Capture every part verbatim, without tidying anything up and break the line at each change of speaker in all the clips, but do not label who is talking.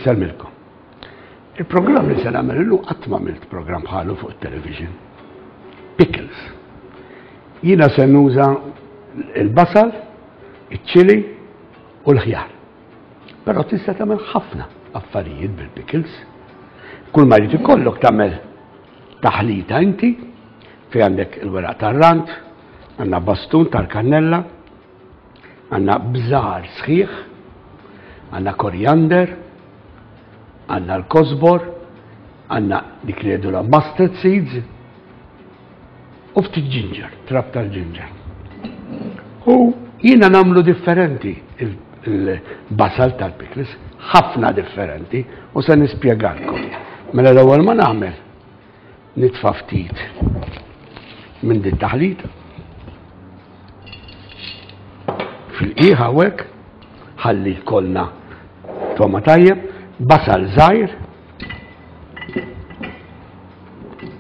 Insellmilkom. Il-programm li se nagħmel illum qatt m'għamilt programm bħalu fuq it-television. Pickles. Jiena se nuża il-basal, iċ-ċili u l-ħjar. Però tista' tagħmel ħafna affarijiet bil-pickles. Kull ma jrid ikollok tagħmel taħlita inti fi għandek il-weraq tar-rand, għandna bastun tal-kannella, għandna bżar sħiħ, għandna koriander, għandna l-kosbor, għandna dik li jgħidulha mustard seeds, u ftit ginger, trab tal-ginger. U jiena nagħmlu differenti il-basal tal-pickles, ħafna differenti, u se nispjegalkom. Mela l-ewwel ma nagħmel nitfa' ftit minn din taħlita. Fil-qiegħ hawnhekk ħalli jkollna toma tajjeb, basal żgħir,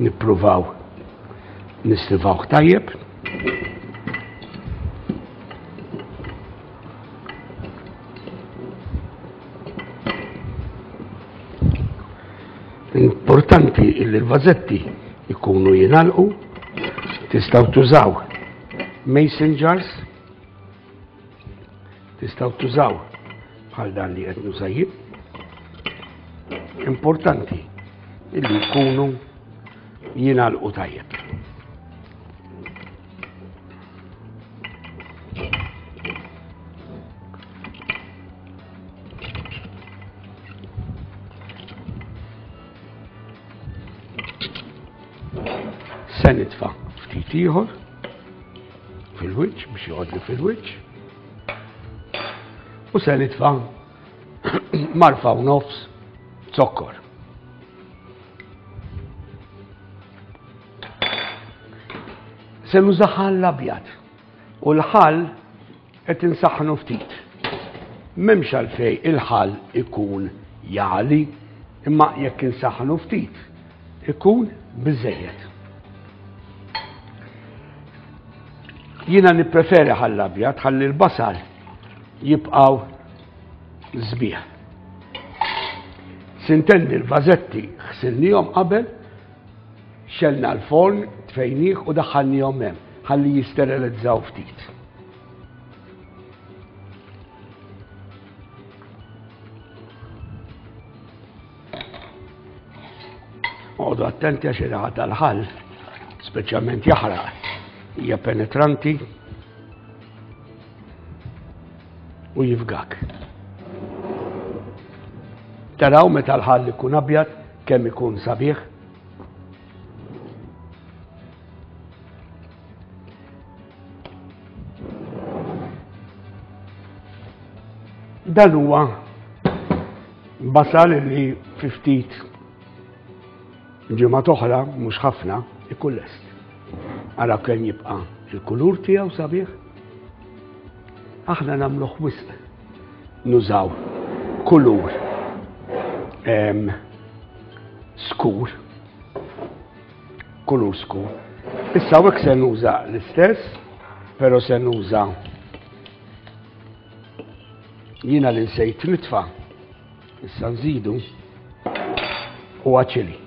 nippruvaw nistivawh tajjeb. Importanti illi l-vażetti ikunu jingħalqu, tistgħu tużaw mason jars, tistgħu tużaw bħal dan li qed nuża jien. Importanti illi jkunu jingħalqu tajjeb. Se nitfa' ftit ieħor fil-wiċċ biex joqgħodli fil-wiċċ. U se nitfa' marfa u nofs zokkor. Se nuża ħall abjad u l-ħall qed insaħħnu ftit. M'hemmx għalfejn il-ħall ikun jagħli, imma jekk insaħħnu ftit ikun biżejjed. Jiena nippreferi ħall abjad ħalli l-basal jibqgħu sbieħ. Sintendi l-vażetti ħsilnihom qabel, xelna l-forn, tfejnih u daħħalnihom hemm ħalli jisterilizzaw ftit. Oqogħdu attenti għax ir-riħa tal-ħall, speċjalment jaħraq, hija penetranti u jifgak. Taraw meta l-ħall ikun abjad kemm ikun sabiħ. Dan huwa basal li fi ftit ġimgħa oħra, mhux ħafna, ikun lest. Ara kemm jibqa' il-kulur tiegħu sabiħ. Aħna nagħmluh wisq nużaw kulur em, skur, kulur skur. Issa hawnhekk se nuża l-istess, però se nuża jiena li nsejt nitfa', issa nżidu huwa ċili.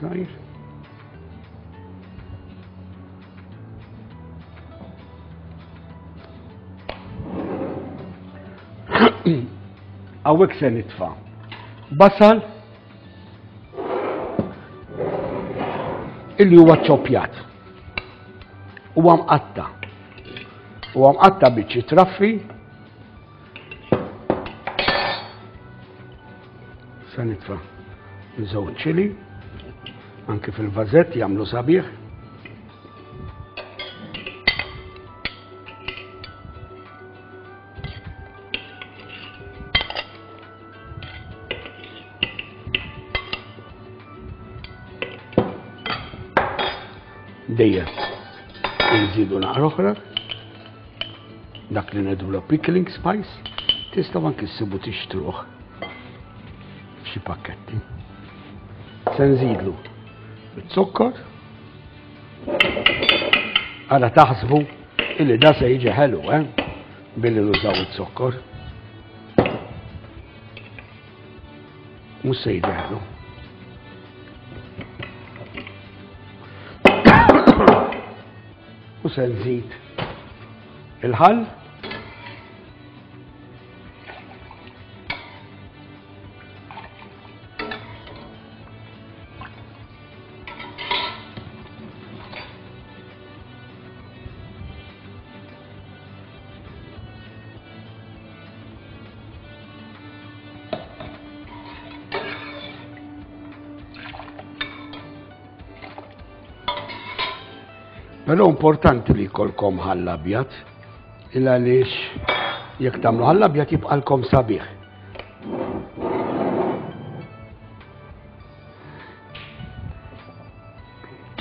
Żgħir. Hawnhekk se nitfa' basal illi huwa ċoppjat. Huwa mqatta. Huwa mqatta biċċi traffi. Se nitfa' żewġ ċili, anke fil-vażett jagħmlu sabiħ. Dejjem nżidu naqra oħra, dak li ngħidulu pickling spice, tistgħu anke ssibu tixtruh f'xi pakketti. Se nżidlu iz-zokkor, Għala taħsbu illi da se jiġi ħelu, eh? Billi nużaw iz-zokkor. Mhux se jiġi ħelu. U se nżid il-ħall. Però importanti li jkollkom ħall abjad, il għaliex jekk tagħmlu ħall abjad jibqalkom sabiħ.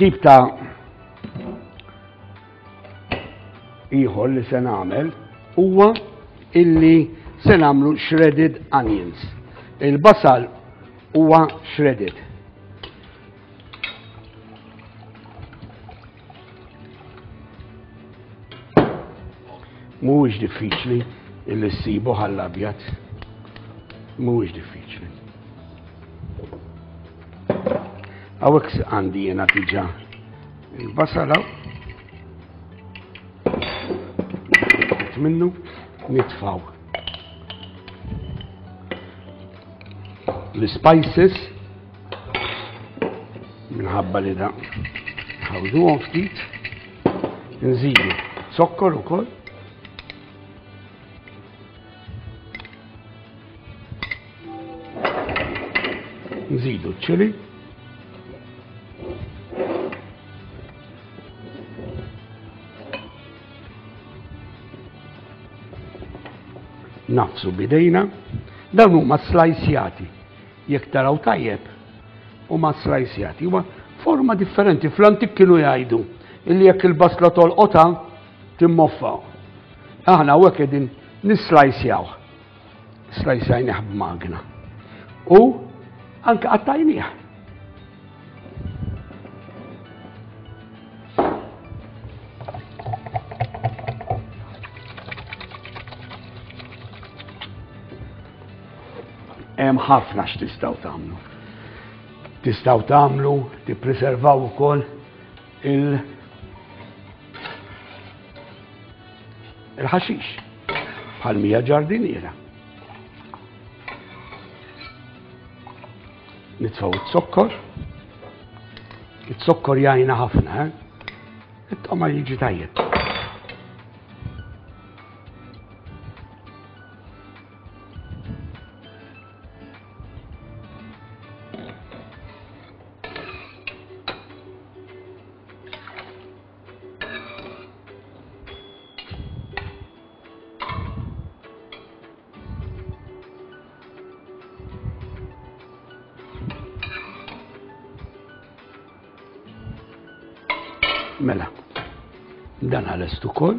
Tip ta' ieħor li se nagħmel huwa illi se nagħmlu shredded onions. Il-basal huwa shredded. Mhuwiex diffiċli illi ssibu ħall abjad. Mhuwiex diffiċli. Hawnhekk għandi jiena diġà il-basala. Minnu nitfaw l-spices minħabba li da ħawduhom ftit, nżidu zokkor ukoll. Nżidu ċili. Nafsu bidejna. Dawn huma slajsjati. Jekk taraw tajjeb, huma slajsjati. Huma forma differenti. Fl-antik kienu jgħidu illi jekk il-basla tolqotha timmoffa. Aħna hawnhekk qegħdin nislajsjaw. Slajsjajnih b'magna. U anke qattajnieh. Hemm ħafna x'tistgħu tagħmlu. Tistgħu tagħmlu, tippreservaw ukoll il- il-ħaxix bħal mija ġardiniera. Nitfgħu iz-zokkor. Iz-zokkor jgħinna ħafna, eh? It-toma jiġi tajjeb. Mela, dan għal-est ukoll.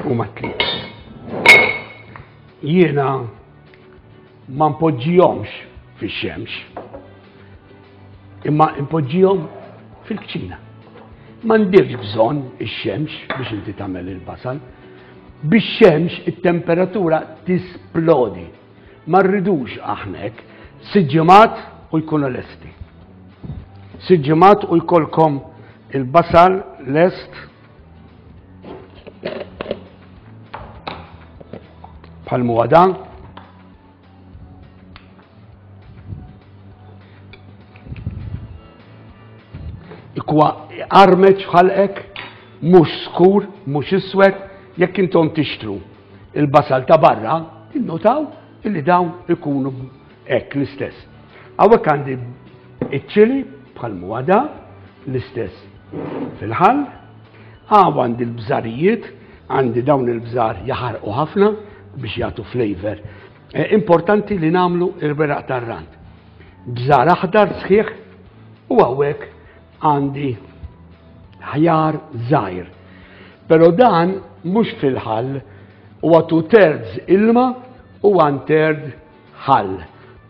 U ma tliet. Jiena ma npoġġihomx fix-xemx, imma npoġġihom fil-kċina. M'għandekx bżonn ix-xemx biex inti tagħmel il-basal. Bix-xemx it-temperatura tisplodi. Ma rridux aħna hekk. Sitt ġimgħat u jkunu lesti. Sitt ġimgħat u jkollkom il-basal lest bħal huwa dan. Ikwa armeċ ħalqek, mhux skur, mhux iswed, jekk intom tixtru il-basal ta' barra, tinnotaw illi dawn ikunu hekk l-istess. Hawnhekk għandi iċ-ċili bħal huwa da, l-istess fil-ħall. Hawn għandi l-bżarijiet, għandi dawn il-bżar jaħarqu ħafna biex jagħtu flavor. Eh, importanti li nagħmlu il-weraq tar-rand. Bżar aħdar sħiħ u hawnhekk għandi ħjar żgħir. Però dan mhux fil-ħall, huwa two thirds ilma u one third ħall.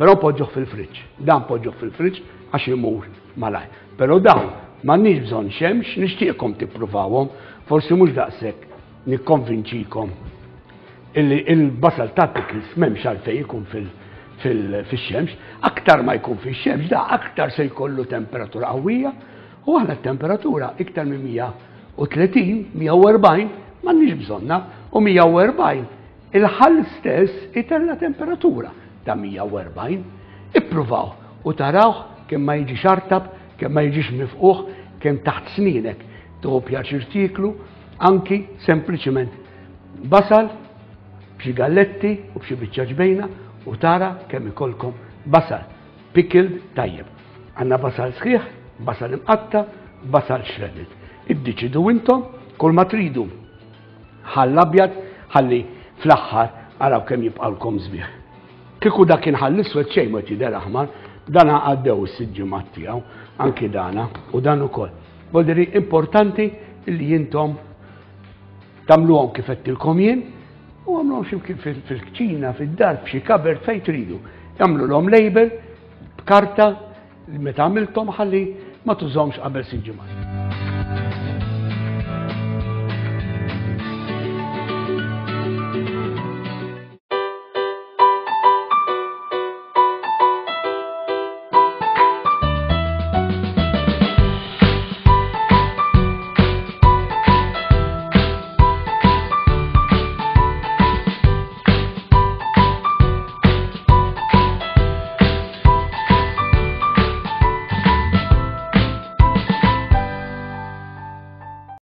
Però poġġuh fil-friġġ. Dan poġġuh fil-friġġ għax imur malajr. Però dawn m'għandniex bżonn xemx, nixtieqkom tippruvawhom, forsi mhux daqshekk nikkonvinċikom illi il-basal ta' pickles m'hemmx għalfejn ikun fil-xemx, aktar ma jkun fil-xemx, da aktar se jkollu temperatura qawwija, u aħna temperatura iktar minn mija u tletin, mija u erbgħin m'għandniex bżonna, u mija u erbgħin il-ħall stess itella temperatura ta' mija u erbgħin. Ippruvaw u taraw kemm ma jiġix artab, kemm ma jiġix mifquħ, kemm taħt sninek tieħu pjaċir tieklu, anki sempliċiment basal b'xi galletti u b'xi biċċa ġbejna u tara kemm ikollkom basal pickled tajjeb. Għandna basal sħiħ, basal imqatta, basal shredded. Iddeċidu intom kull ma tridu. Ħall abjad, ħalli fl-aħħar araw kemm jibqalkom sbieħ. Kieku dak kien ħall iswed xejn ma jidher aħmar, dana għaddew is-sitt ġimgħat tiegħu, anki dana u dan ukoll. Voldiri importanti li intom tagħmluhom kif għedtilkom jien u għamluhom xi fil-kċina, fid-dar, f'xi cupboard fejn tridu. Għamlulhom label b'karta meta għamiltom ħalli ma tużomx qabel sitt ġimgħat.